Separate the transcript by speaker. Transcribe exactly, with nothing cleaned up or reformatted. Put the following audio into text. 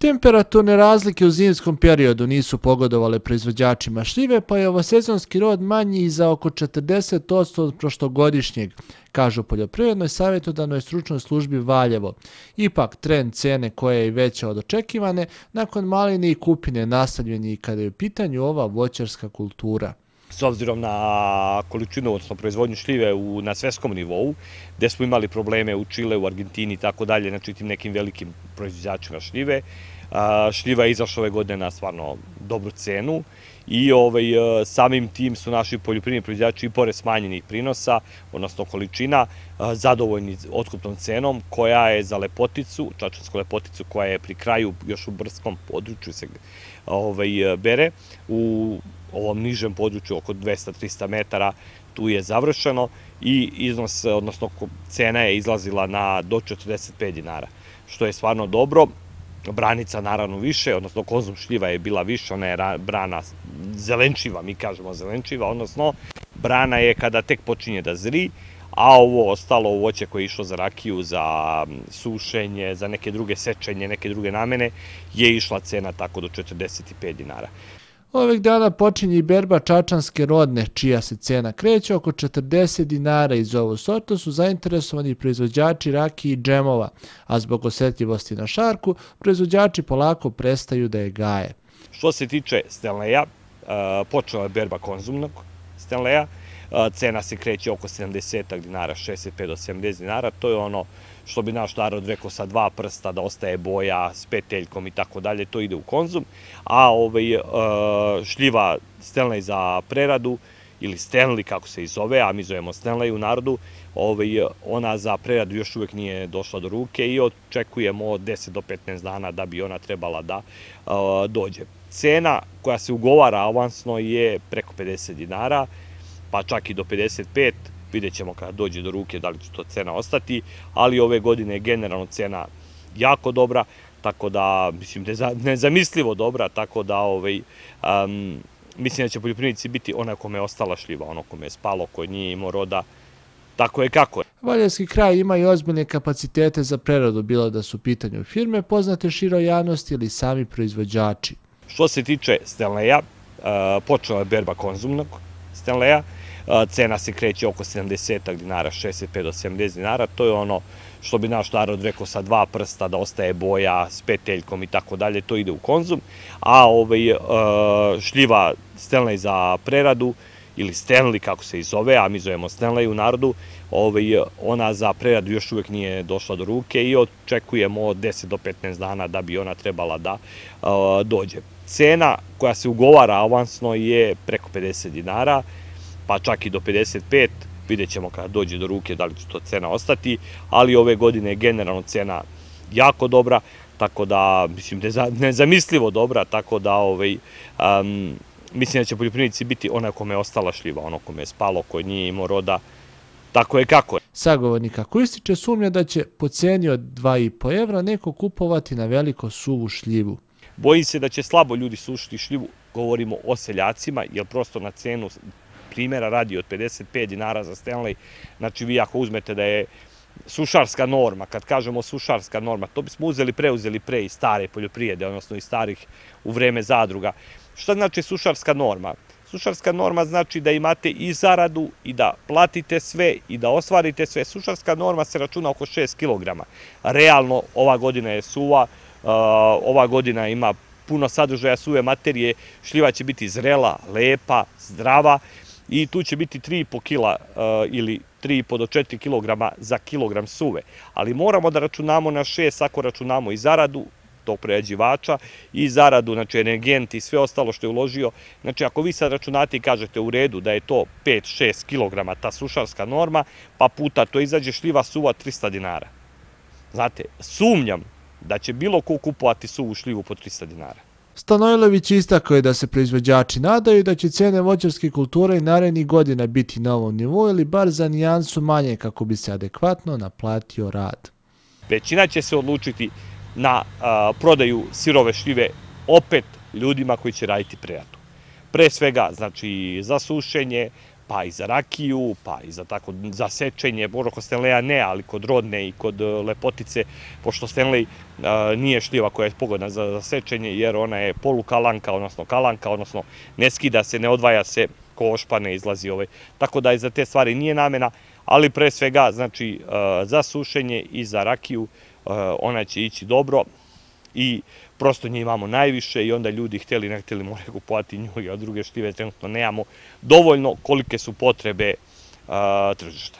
Speaker 1: Temperaturne razlike u zimskom periodu nisu pogodovale proizvođačima šljive, pa je ovosezonski rod manji i za oko četrdeset posto od prošlogodišnjeg, kažu u Poljoprivrednoj savjetodavnoj stručnoj službi Valjevo. Ipak, trend cene koja je i veća od očekivane, nakon maline i kupine nastavljen je i kada je u pitanju ova voćarska kultura.
Speaker 2: S obzirom na količinu, odnosno proizvodnju šljive na svetskom nivou, gde smo imali probleme u Čile, u Argentini i tako dalje, znači tim nekim velikim proizvođačima šljive, šljiva je izašla ove godine na stvarno dobru cenu i samim tim su naši poljoprivredni proizvođači i pored smanjenih prinosa, odnosno količina, zadovoljni otkupnom cenom koja je za lepoticu, čačansku lepoticu koja je pri kraju još u brskom području se bere, u ovom nižem području oko dvesta do trista metara, tu je završeno i iznos, odnosno cena je izlazila na do četrdeset pet dinara, što je stvarno dobro. Branica naravno više, odnosno konzum šljiva je bila više, ona je brana zelenčiva, mi kažemo zelenčiva, odnosno brana je kada tek počinje da zri, a ovo ostalo voće koje je išlo za rakiju, za sušenje, za neke druge sečenje, neke druge namene, je išla cena tako do četrdeset pet dinara.
Speaker 1: Ovih dana počinje i berba čačanske rodne, čija se cena kreće oko četrdeset dinara. Iz ovu sortu su zainteresovani proizvođači rakije i džemova, a zbog osjetljivosti na šarku, proizvođači polako prestaju da je gaje.
Speaker 2: Što se tiče Stanleya, počela je berba konzumnog Stanleya, cena se kreće oko sedamdeset dinara, šezdeset pet do sedamdeset dinara, to je ono što bi naš narod rekao sa dva prsta da ostaje boja s peteljkom i tako dalje, to ide u konzum, a šljiva Stanley za preradu ili Stanley kako se i zove, a mi zovemo Stanley u narodu, ona za preradu još uvek nije došla do ruke i očekujemo od deset do petnaest dana da bi ona trebala da dođe. Cena koja se ugovara avansno je preko pedeset dinara, pa čak i do pedeset pet, vidjet ćemo kada dođe do ruke da li će to cena ostati, ali ove godine je generalno cena jako dobra, tako da, mislim, nezamislivo dobra, tako da mislim da će poljoprivrednici biti onaj kome je ostala šljiva, ono kome je spalo, koji nije imao roda, tako je kako je.
Speaker 1: Valjevski kraj ima i ozbiljne kapacitete za preradu, bilo da su u pitanju firme poznate široj javnosti ili sami proizvođači.
Speaker 2: Što se tiče Stanleya, počela je berba konzumnog Stanleya, cena se kreće oko sedamdeset dinara, šezdeset pet do sedamdeset dinara, to je ono što bi naš narod rekao sa dva prsta da ostaje boja s peteljkom i tako dalje, to ide u konzum, a šljiva Stanley za preradu ili Stanley kako se i zove, a mi zovemo Stanley u narodu, ona za preradu još uvek nije došla do ruke i očekujemo od deset do petnaest dana da bi ona trebala da dođe. Cena koja se ugovara avansno je preko pedeset dinara, pa čak i do pedeset pet, vidjet ćemo kada dođe do ruke da li će to cena ostati, ali ove godine je generalno cena jako dobra, tako da, mislim, nezamislivo dobra, tako da mislim da će poljoprivrednici biti onaj kome je ostala šljiva, ono kome je spalo, koji nije imao roda, tako je kako je.
Speaker 1: Sagovornik ako ističe sumnja da će po ceni od dva i po evra neko kupovati na veliko suvu šljivu.
Speaker 2: Bojim se da će slabo ljudi sušiti šljivu, govorimo o seljacima, jer prosto na cenu primjera radi od pedeset pet dinara za Stanley, znači vi ako uzmete da je sušarska norma, kad kažemo sušarska norma, to bismo uzeli, preuzeli pre iz stare poljoprivrede, odnosno iz starih u vreme zadruga. Šta znači sušarska norma? Sušarska norma znači da imate i zaradu i da platite sve i da ostvarite sve. Sušarska norma se računa oko šest kilograma. Realno, ova godina je suva, ova godina ima puno sadržaja suve materije, šljiva će biti zrela, lepa, zdrava i tu će biti tri i po kila ili tri i po do četiri kilograma za kilogram suve. Ali moramo da računamo na šest ako računamo i zaradu tog prerađivača i zaradu, znači energenti i sve ostalo što je uložio. Znači ako vi sad računate i kažete u redu da je to pet do šest kilograma ta sušarska norma, pa puta to izađe šljiva suva trista dinara. Znate, sumnjam da će bilo ko kupovati suvu šljivu po trista dinara.
Speaker 1: Stanojlović istakao je da se proizvođači nadaju da će cene voćarske kulture i narednih godina biti na ovom nivou ili bar za nijansu manje kako bi se adekvatno naplatio rad.
Speaker 2: Većina će se odlučiti na prodaju sirove šljive opet ljudima koji će raditi preradu. Pre svega, znači, za sušenje, pa i za rakiju, pa i za tako, za sečenje, možda kod Stanleya ne, ali kod Rodne i kod Lepotice, pošto Stanley nije šljiva koja je pogodna za sečenje, jer ona je polukalanka, odnosno kalanka, odnosno ne skida se, ne odvaja se, košpa ne izlazi ovaj. Tako da i za te stvari nije namena, ali pre svega, znači, za sušenje i za rakiju ona će ići dobro i prosto nje imamo najviše i onda ljudi htjeli, ne htjeli, moraju kupovati nju, a druge šljive trenutno nemamo dovoljno kolike su potrebe tržišta.